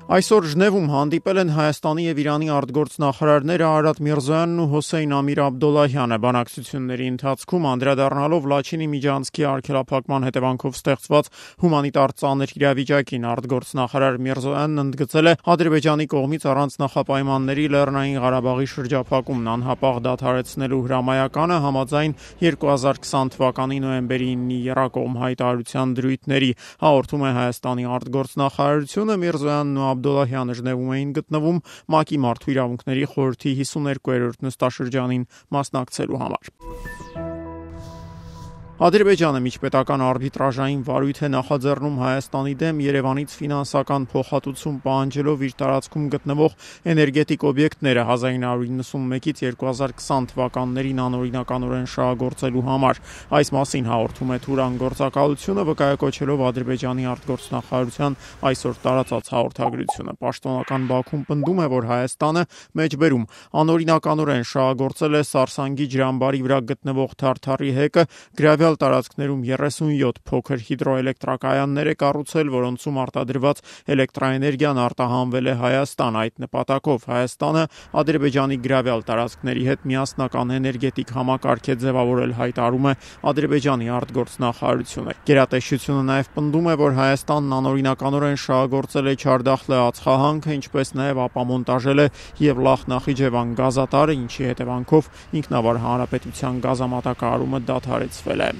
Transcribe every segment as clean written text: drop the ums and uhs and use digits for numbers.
Այսօր Ժնևում հանդիպել են Հայաստանի եւ Իրանի արտգործնախարարները Արարատ Միրզոյանն ու Հոսեյն Ամիր Աբդոլլահյանը։ Բանակցությունների ընթացքում անդրադառնալով Լաչինի միջանցքի արգելափակման հետևանքով ստեղծված հումանիտար ծանր իրավիճակին, արտգործնախարար Միրզոյանն ընդգծել է Ադրբեջանի կողմից առանց նախապայմանների Լեռնային Ղարաբաղի շրջափակումն անհապաղ դադարեցնելու հրամայականը համաձայն 2020 թվականի նոյեմբերի 9-ի եռակողմ հայտարարության դրույթների, հաղորդում է Հայաստանի արտգործնախարարությունը։ Միրզոյանն ու Աբդոլլահյանը Ժնևում էին գտնվում ՄԱԿ-ի Մարդու իրավունքների խորհրդի 52-րդ նստաշրջանին մասնակցելու համար։ Ադրբեջանը միջպետական արբիտրաժային վարույթ է նախաձեռնում Հայաստանի դեմ Երևանից ֆինանսական փոխհատուցում պահանջելով իր տարածքում գտնվող էներգետիկ օբյեկտները 1991-ից 2020 թվականներին անօրինականորեն շահագործելու համար։ Այս մասին հաղորդում է Թուրան գործակալությունը, վկայակոչելով Ադրբեջանի արտգործնախարարության այսօր տարածած հաղորդագրությունը։ Պաշտոնական Բաքուն պնդում է, որ Հայաստանը մեջբերում անօրինականորեն շահագործել է Սարսանգի ջրամբարի վրա գտնվող Թարթարի հեկը, գրավյալ տարածքներում 37 փոքր հիդրոէլեկտրակայաններ է կառուցել, որոնցում արտադրված էլեկտրաէներգիան արտահանվել է Հայաստան։ Այդ նպատակով Հայաստանը Ադրբեջանի գրավյալ տարածքների հետ միասնական էներգետիկ համակարգ է ձևավորել, հայտարարում է Ադրբեջանի արտգործնախարարությունը։ Գերատեսչությունը նաև պնդում է, որ Հայաստանն անօրինականորեն շահագործել է Չարդախլե ածխահանքը, ինչպես նաև ապամոնտաժել է Եվլախ Նախիջևան գազատարը, ինչի հետևանքով ինքնավար հանրապետության գազամատակարարումը դադարեցվել է։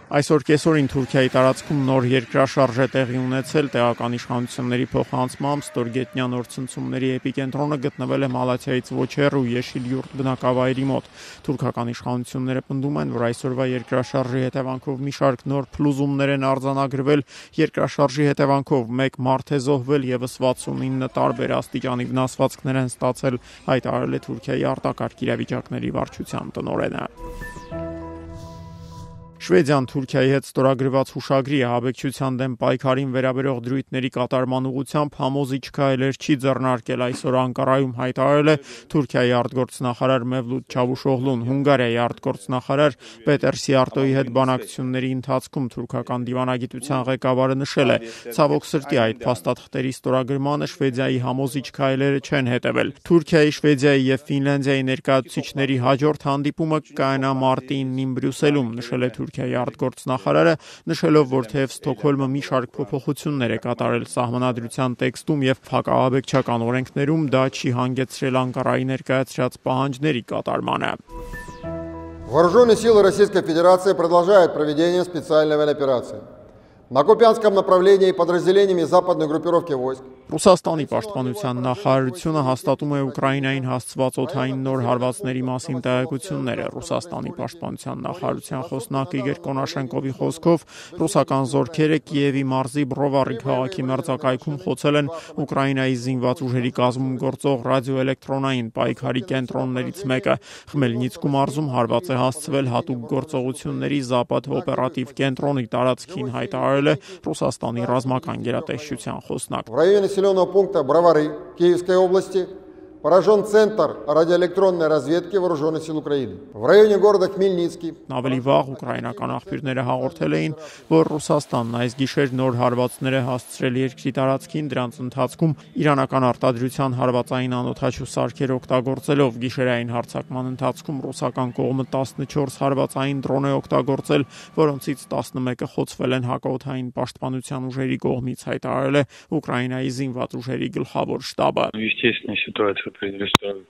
Այսօր կեսօրին Թուրքիայի տարածքում նոր երկրաշարժ է տեղի ունեցել։ Տեղական իշխանությունների փոխանցմամբ ստորգետնյա նոր ցնցումների էպիկենտրոնը գտնվել է Մալաթիայից ոչ հեռու Եշիլյուրտ բնակավայրի մոտ։ Թուրքական իշխանությունները պնդում են, որ այսօրվա երկրաշարժի հետևանքով մի շարք նոր փլուզումներ են արձանագրվել։ Երկրաշարժի հետևանքով մեկ մարդ է զոհվել, եւս 69 տարբեր աստիճանի վնասվածքներ են ստացել, հայտարարել է Թուրքիայի արտակարգ իրավիճակների վարչության տնօրենը։ Շվեդիան Թուրքիայի հետ ստորագրված հուշագրի ահաբեկչության դեմ պայքարին վերաբերող դրույթների կատարման ուղղությամբ համոզիչ քայլեր չի ձեռնարկել, այսօր Անկարայում հայտարարել է Թուրքիայի արտգործնախարար Մևլութ Չավուշօղլուն։ Հունգարիայի արտգործնախարար Պետեր Սիարտոյի հետ բանակցությունների ընթացքում թուրքական դիվանագիտության ղեկավարը նշել է. ցավոք սրտի այդ փաստաթղթերի ստորագրմանը Շվեդիայի համոզիչ քայլերը չեն հետևել։ Թուրքիայի, Շվեդիայի եւ Ֆինլանդիայի ներկայացուցիչների հաջորդ հանդիպումը կայանա մարտի 9-ին Բրյուսելում, նշել է Թուրքիայի արտգործնախարարը, նշելով, որ թեև Ստոկհոլմը մի շարք փոփոխություններ է կատարել սահմանադրության տեքստում եւ հակաահաբեկչական օրենքներում, դա չի հանգեցրել Անկարայի ներկայացրած պահանջների կատարմանը։ Вооруженные силы Российской Федерации продолжают проведение специальной военной-операции. На Купянском направлении подразделениями западной группировки войск. Ռուսաստանի պաշտպանության նախարարությունը հաստատում է Ուկրաինային հասցված օդային նոր հարվածների մասին տեղեկությունները։ Ռուսաստանի պաշտպանության նախարարության խոսնակ Իգոր Կոնաշենկովի խոսքով ռուսական զորքերը Կիևի մարզի Բրովարի քաղաքի մերձակայքում խոցել են Ուկրաինայի զինված ուժերի կազմում գործող ռադիոէլեկտրոնային պայքարի կենտրոններից մեկը։ Խմելնիցկու մարզում հարված է հասցվել հատուկ գործողությունների Զապադ օպերատիվ կենտրոնի տարածքին, հայտարարել է Ռուսաստանի ռազմական գերատեսչության խոսնակ։ Населенного пункта Бровары Киевской области поражен Центр радиоэлектронной разведки Вооруженных сил Украины. В районе города Хмельницкий. Ավելի վաղ ուկրաինական աղբյուրները հաղորդել էին, որ Ռուսաստանն այս գիշեր նոր հարվածներ է հասցրել երկրի տարածքին, դրանց ընթացքում իրանական արտադրության հարվածային անօդաչու սարքեր օգտագործելով։ Գիշերային հարձակման ընթացքում ռուսական կողմը 14 հարվածային դրոն է օգտագործել, որոնցից 11-ը խոցվել են հակաօդային պաշտպանության ուժերի կողմից, հայտարարել է Ուկրաինայի զինված ուժերի գլխավոր շտաբը։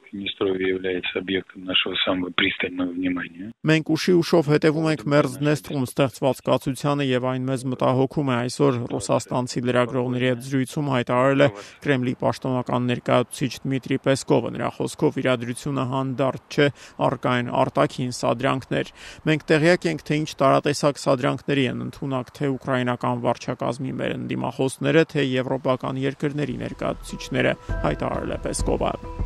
Приднестровье является объектом нашего самого пристального внимания. Մենք ուշի ուշով հետևում ենք Մերձդնեստրում ստեղծված կացությանը եւ այն մեզ մտահոգում է, այսօր ռուսաստանցի լրագրողների հետ զրույցում հայտարարել է Կրեմլի պաշտոնական ներկայացուցիչ Դմիտրի Պեսկովը։ Նրա խոսքով իրադրությունը հանդարտ չէ, առկա են արտաքին սադրանքներ։ Մենք տեղյակ ենք, թե ինչ տարատեսակ սադրանքների են ընդունակ թե ուկրաինական վարչակազմի մեր ընդդիմախոսները, թե եվրոպական երկրների ներկայացուցիչները, հայտարարել է Պեսկովը։